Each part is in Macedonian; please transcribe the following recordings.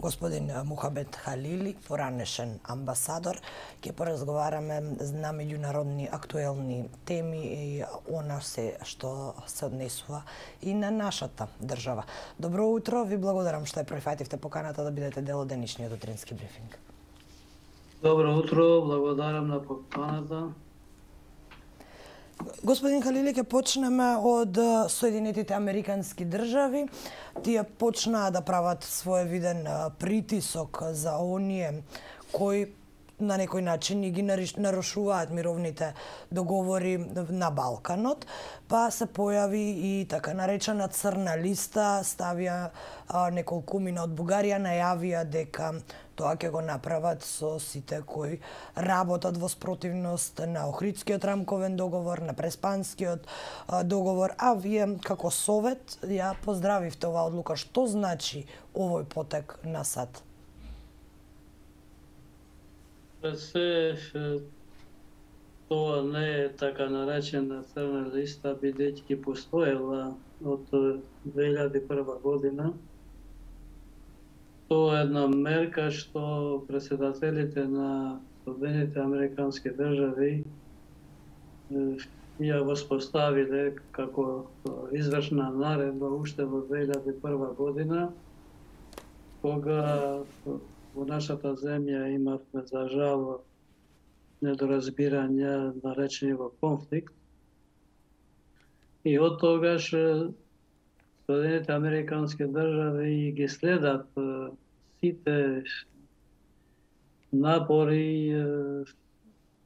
господин Мухамед Халили, поранешен амбасадор. Ќе поразговараме на меѓународни актуелни теми и она се што се однесува и на нашата држава. Добро утро, ви благодарам што ја прифативте поканата да бидете дел од денешниот утрински брифинг. Добро утро, благодарам на поканата. Господин Халили, ќе почнеме од Соединетите Американски држави. Тие почнаа да прават своевиден притисок за оние кои на некој начин ги нарушуваат мировните договори на Балканот, па се појави и така наречена црна листа, ставија неколку мина од Бугарија, најавија дека тоа ќе го направат со сите кои работат во спротивност на Охридскиот рамковен договор, на Преспанскиот договор, а вие како Совет ја поздравивте оваа одлука. Што значи овој потек на САД? Се тоа не е така наречена црна листа, бидејќи постоела од 2001 година. Тоа е една мерка што претседателите на Соединетите Американски држави ја воспоставиле како извршна наредба уште во 2001 година, кога во нашата земја имавме за жал недоразбирање наречени во конфликт. И од тогаш Соединетите Американски држави ги следат сите напори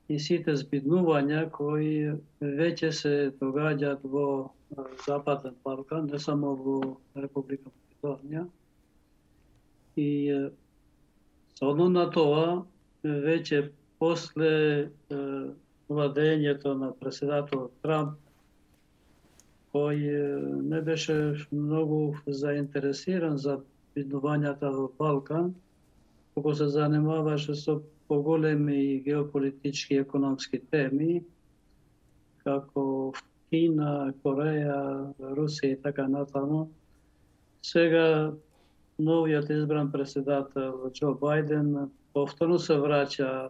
и сите збиднувања кои веќе се догаѓаат во Западен Балкан, не само во Република Македонија. И соодно на тоа, веќе после владењето на претседателот Трамп, кој не беше многу заинтересиран за биднувањата во Балкан, кога се занимаваше со поголеми геополитички и економски теми, како Кина, Кореја, Русија и така натаму. Сега новиот избран претседател Џо Бајден повторно се враќа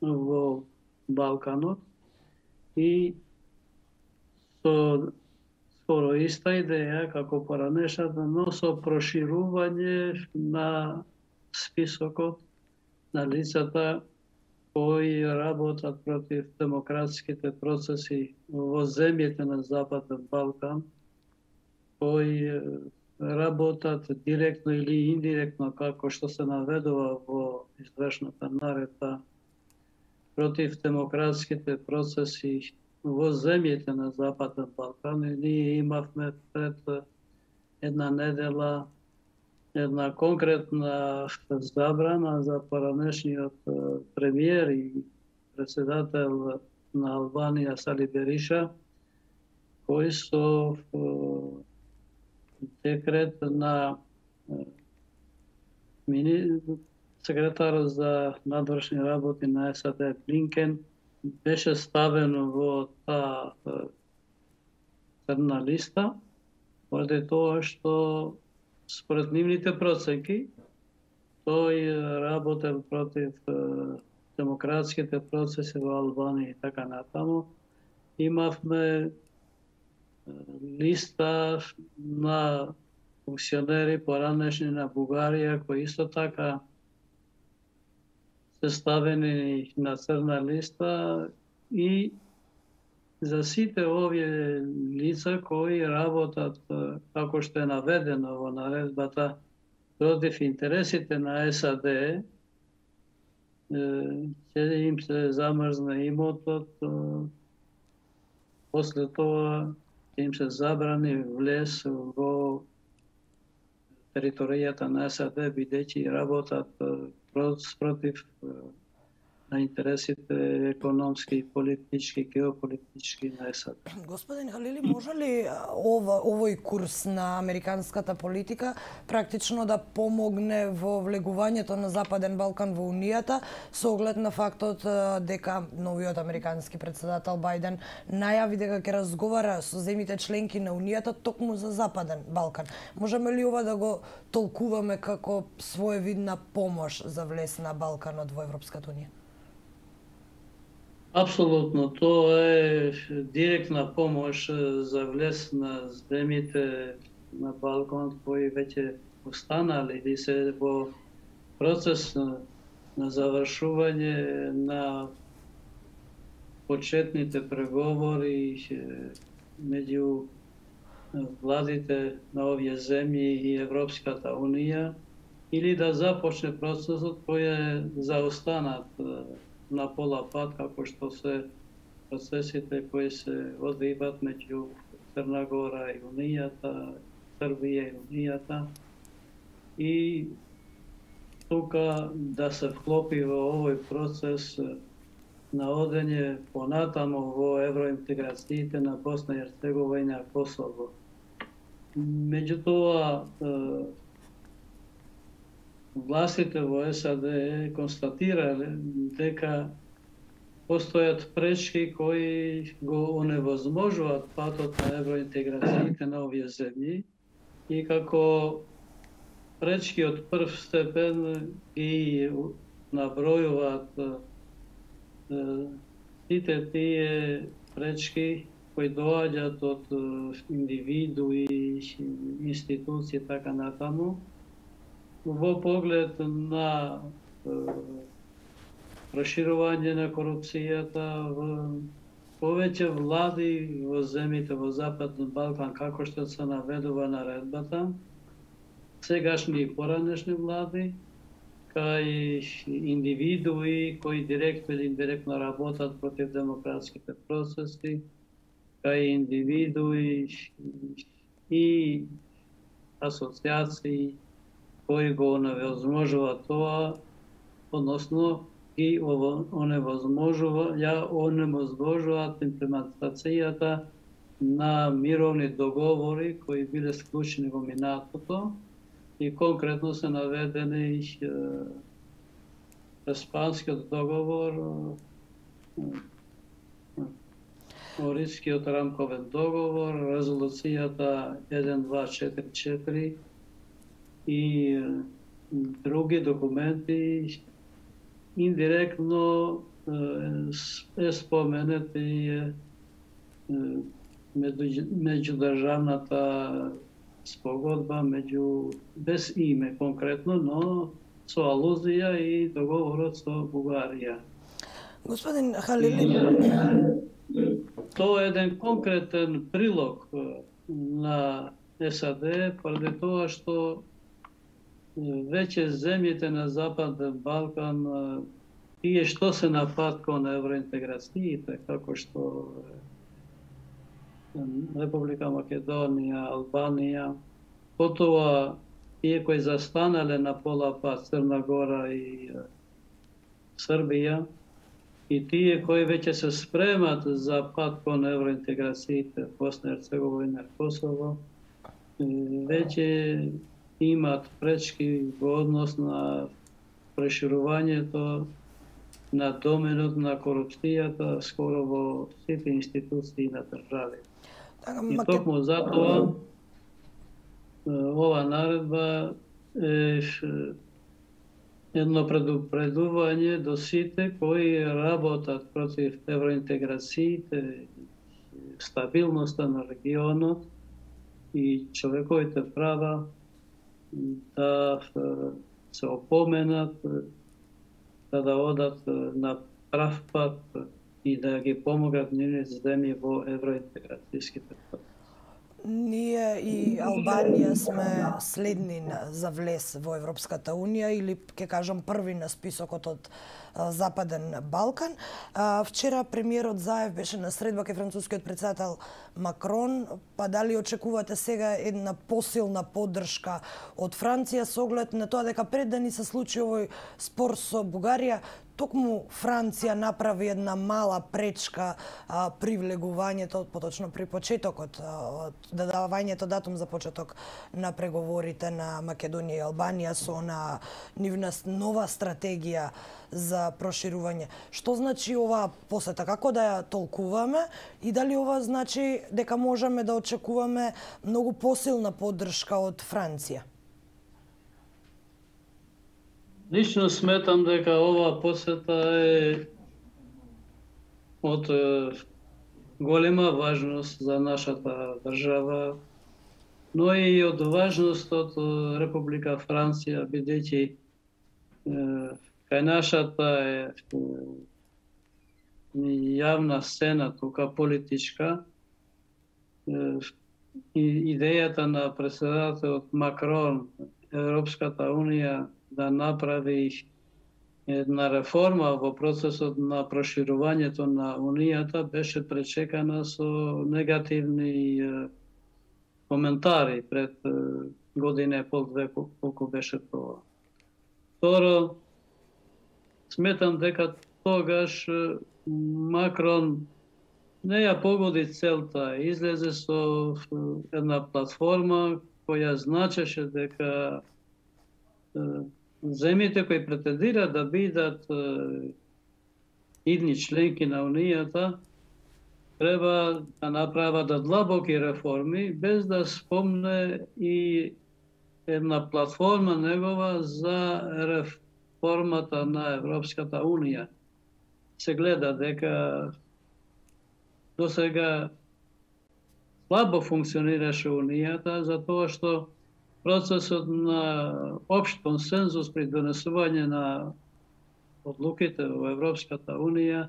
во Балканот и со скоро иста идеја како поранешната, но со проширување на списокот на лицата кои работат против демократските процеси во земјите на Западен Балкан, кои работат директно или индиректно, како што се наведува во извршната наредба, против демократските процеси во земјите на Западен Балкан. И ние имавме пред една недела една конкретна забрана за поранешниот премиер и претседател на Албанија Сали Бериша, кој со декрет на секретарот за надворешни работи на САД Блинкен беше ставено во таа црна листа, поради тоа што според нивните процеки тој работел против демократските процеси во Албанија и така натаму. Имавме листа на функционери поранешни на Бугарија, кои исто така се ставени на црна листа, и за сите овие лица кои работат, како што е наведено во наредбата, против интересите на САД, ќе им се замрзне имотот, после тоа ќе им се забрани влез во територијата на САД, бидејќи работат против на интересите економски, политички, геополитички на САД. Господин Халили, може ли овој курс на американската политика практично да помогне во влегувањето на Западен Балкан во Унијата со оглед на фактот дека новиот американски председател Бајден најави дека ќе разговара со земјите членки на Унијата токму за Западен Балкан? Можеме ли ова да го толкуваме како своевидна помош за влез на Балканот во Европската Унија? Апсолутно, тоа е директна помош за влез на земјите на Балканот кои веќе останали или се во процес на завршување на почетните преговори меѓу владите на овие земји и Европската Унија или да започне процесот кој е заостанат на пола пат, како што се процесите кои се одвиваат меѓу Црна Гора и Унијата, Србија и Унијата. И тука да се вклопи во овој процес на одење понатаму во евроинтеграциите на Босна и Херцеговина и Косово. Меѓутоа, властите во САД констатирале дека постојат пречки кои го оневозможуваат патот на евроинтеграциите на овие земји и како пречки од прв степен ги набројуваат сите тие пречки кои доаѓаат од индивидуи, институции така натаму, во поглед на проширување на корупцијата, повеќе влади во земјите во Западен Балкан, како што се наведува наредбата, сегашни и поранешни влади, кај индивидуи кои директно или индиректно работат против демократските процеси, кај индивидуи и асоциации кои го оневозможува тоа, односно ги оневозможуваат имплементацијата на мировни договори кои биле склучени во минатото и конкретно се наведени Испанскиот договор, Орискиот рамковен договор, резолуцијата 1244 и други документи. Индиректно е споменати меѓудржавната спогодба без име конкретно, но со алузија и договорот со Бугарија. Господин Халили, тоа е еден конкретен прилог на САД, поради тоа што веќе земјите на Западен Балкан, тие што се на пат кон евроинтеграциите, како што Република Македонија, Албанија, потоа тие кои застанале на пола пат, Црна Гора и Србија, и тие кои веќе се спремат за пат кон евроинтеграциите, Босна и Херцеговина и Косово, веќе имаат пречки во однос на проширувањето на доменот на корупцијата скоро во сите институции на држави. И токму затоа ова наредба е едно предупредување до сите кои работат против евроинтеграциите, стабилноста на регионот и човековите права, да се опоменат, да одат на прав пат и да ги помогат нивните земји во евроинтеграцијските процеси. Ние и Албанија сме следни за влез во Европската Унија или ќе кажам први на списокот од Западен Балкан. Вчера премиерот Заев беше на средба кај францускиот председател Макрон, па дали очекувате сега една посилна поддршка од Франција со оглед на тоа дека пред да ни се случи овој спор со Бугарија, токму Франција направи една мала пречка при влегувањето, поточно при почетокот, давањето датум за почеток на преговорите на Македонија и Албанија со нивна нова стратегија за проширување. Што значи оваа посета? Како да ја толкуваме и дали ова значи дека можеме да очекуваме многу посилна поддршка од Франција? Лично сметам дека ова посета е од голема важност за нашата држава, но и од важност од Република Франција, бидејќи кај нашата јавна сцена, тука политичка, идејата на претседателот Макрон, Европската унија да направи една реформа во процесот на проширувањето на Унијата беше пречекана со негативни коментари пред година и пол, две, колку беше тоа. Второ, сметам дека тогаш Макрон не ја погоди целта, излезе со една платформа која значеше дека земјите кои претендираат да бидат идни членки на Унијата треба да направат длабоки реформи, без да спомне и една платформа негова за реформата на Европската Унија. Се гледа дека досега слабо функционираше Унијата, затоа што процесот на општ консензус при донесување на одлуките во Европската Унија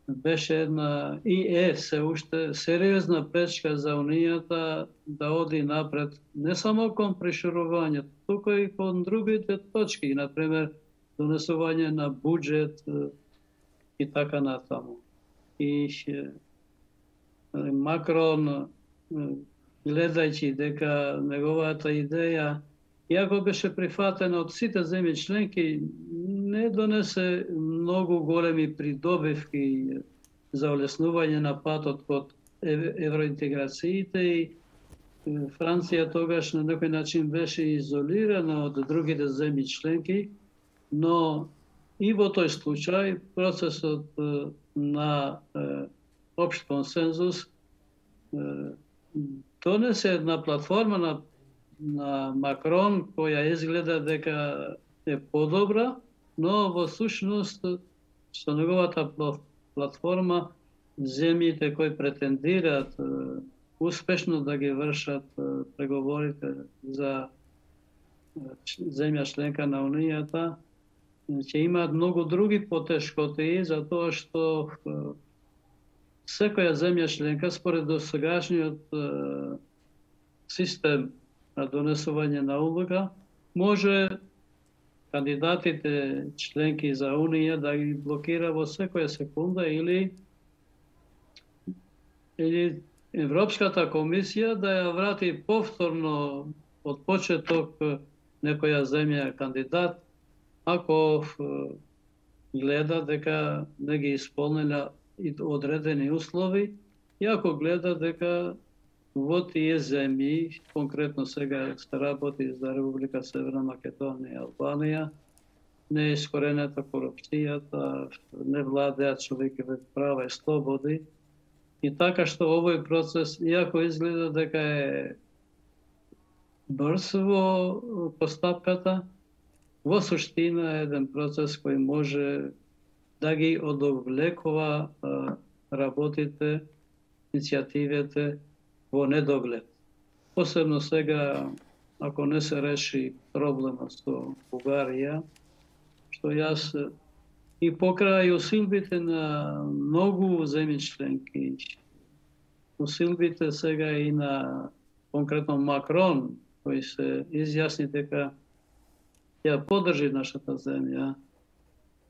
беше една и се уште сериозна пречка за Унијата да оди напред не само кон проширувањето, туку и кон другите точки, например донесување на буџет и така натаму. И Макрон, гледајќи дека неговата идеја, иако беше прифатена од сите земји членки, не донесе многу големи придобивки за олеснување на патот код евроинтеграциите и Франција тогаш на некој начин беше изолирана од другите земји членки, но и во тој случај процесот на општ консензус донесе една платформа на Макрон која изгледа дека е подобра, но во сушност со неговата платформа земјите кои претендираат успешно да ги вршат преговорите за земја членка на Унијата ќе имаат многу други потешкоти, затоа што секоја земја членка според досегашниот систем на донесување на одлука може кандидатите членки за Унија да ги блокира во секоја секунда или Европската комисија да ја врати повторно од почеток некоја земја кандидат ако гледа дека не ги исполнила одредени услови и ако гледа дека во тие земји, конкретно сега се работи за Република Северна Македонија и Албанија, не е искоренета корупцијата, не владеат човекови права и слободи, и така што овој процес, иако изгледа дека е брз во постапката, во суштина е еден процес кој може да ги одовлекува работите, иницијативите во недоглед. Посебно сега, ако не се реши проблема со Бугарија, што јас и покрај усилбите на многу земји членки, усилбите сега и на конкретно Макрон, кој се изјасни дека ја поддржи нашата земја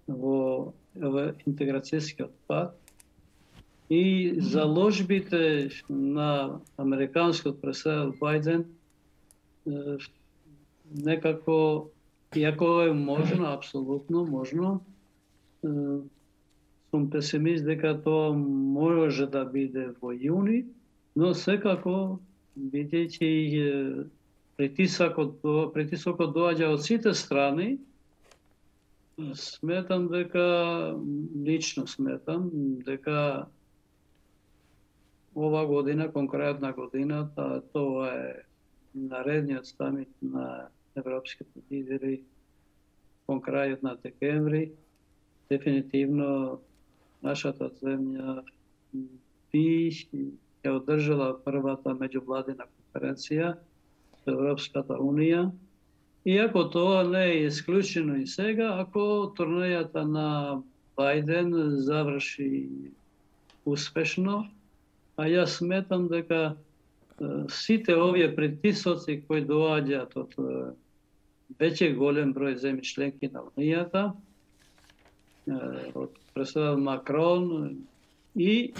во интеграцијскиот пат и заложбите на американскиот претседател Бајден некако, иако е можно, апсолутно можно, сум песимист дека тоа може да биде во јуни, но секако бидејќи притисокот доаѓа од сите страни, лично сметам дека ова година, конкретна годината, тоа е наредниот самит на европските лидери кон крајот на декември. Дефинитивно нашата земја би ја одржала првата меѓувладина конференција со Европската унија. Иако тоа не е исклучено и сега, ако турнејата на Бајден заврши успешно, а јас сметам дека сите овие притисоци кои доаѓаат од веќе голем број земји членки на Унијата, од председател Макрон и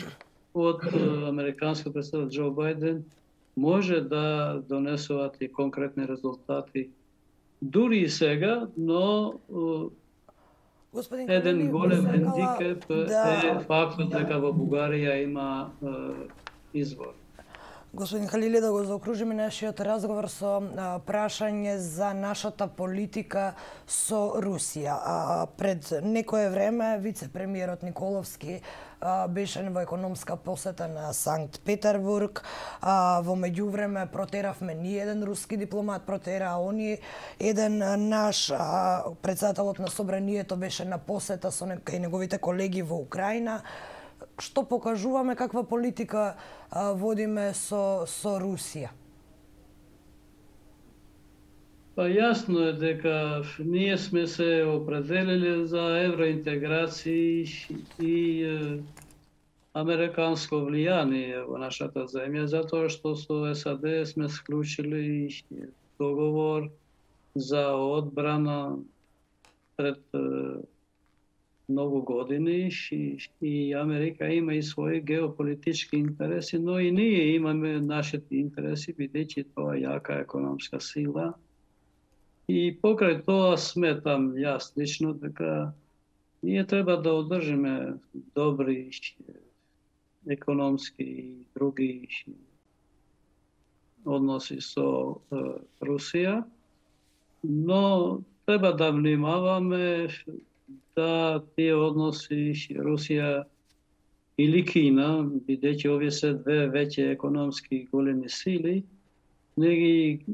од американскиот председател Џо Бајден, може да донесуваат и конкретни резултати дури и сега, но еден голем хендикеп е фактот дека во Бугарија има извор. Господин Халили, да го заокружиме нашиот разговор со прашање за нашата политика со Русија. Пред некое време вице-премиерот Николовски беше во економска посета на Санкт Петербург. Во меѓувреме протеравме ни еден руски дипломат, протера они еден наш председателот на собранието беше на посета со неговите колеги во Украина. Што покажуваме, каква политика водиме со Русија? Па јасно е дека ние сме се определили за евроинтеграција и американско влијание во нашата земја, затоа што со САД сме склучили договор за одбрана пред многу години и Америка има и своји геополитички интереси, но и ние имаме нашите интереси, бидејќи тоа јака економска сила. И покрај тоа сметам јас лично дека ние треба да одржиме добри економски и други односи со Русија, но треба да внимаваме да тие односи Русија или Кина, бидејќи овие се две веќе економски големи сили, не ги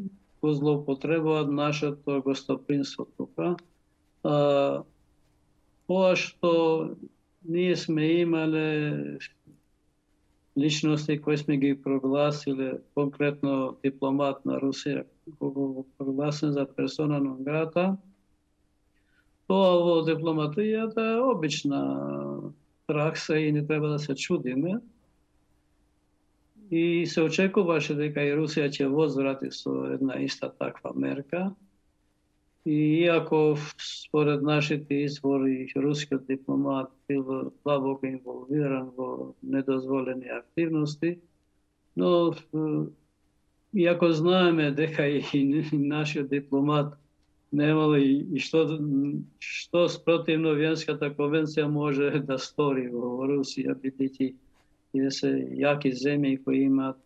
го злоупотребуваат нашето гостопримство тука. Тоа што ние сме имале личности кои сме ги прогласиле, конкретно дипломат на Русија, кој го прогласен за персона нон грата, тоа во дипломатијата е обична пракса и не треба да се чудиме. И се очекуваше дека и Русија ќе возврати со една иста таква мерка. И иако според нашите извори рускиот дипломат бил длабоко инволвиран во недозволени активности, но иако знаеме дека и нашиот дипломат немало и што спротивно Виенската конвенција може да стори во Русија, бидејќи тие се јаки земји кои имаат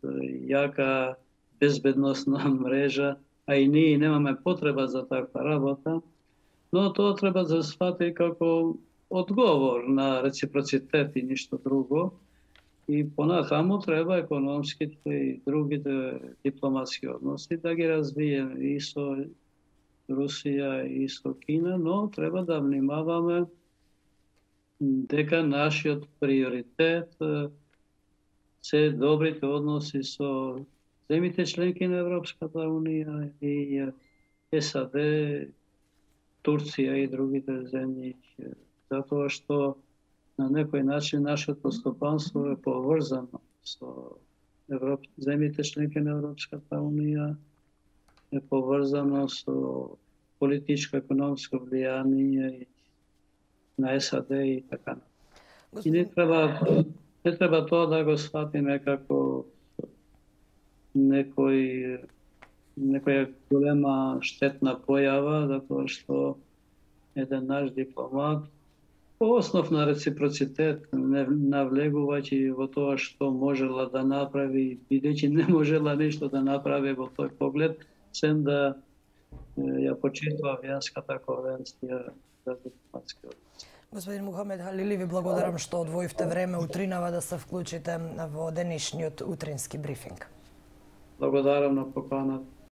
јака безбедносна мрежа, а и ние немаме потреба за таква работа, но тоа треба да се свати како одговор на реципроцитет и ништо друго. И понатаму треба економските и другите дипломатски односи да ги развиеме и со Русија и со Кина, но треба да внимаваме дека нашиот приоритет се добрите односи со земите членки на Европската Унија и САД, Турција и другите земји, затоа што на некој начин нашето стопанство е поврзано со земите членки на Европската Унија, е поврзано со политичко-економско влијание на САД и така. И не треба тоа да го сватиме како некоја голема штетна појава, затоа што еден наш дипломат по основ на реципроцитет, не навлегувајќи во тоа што можела да направи, бидејќи не можела нешто да направи во тој поглед, сем да ја почитував јанската конвенција за дипломатски односи. Господин Мухамед Халили, ви благодарам што одвоивте време утринава да се вклучите во денешниот утрински брифинг. Благодарам на поканата.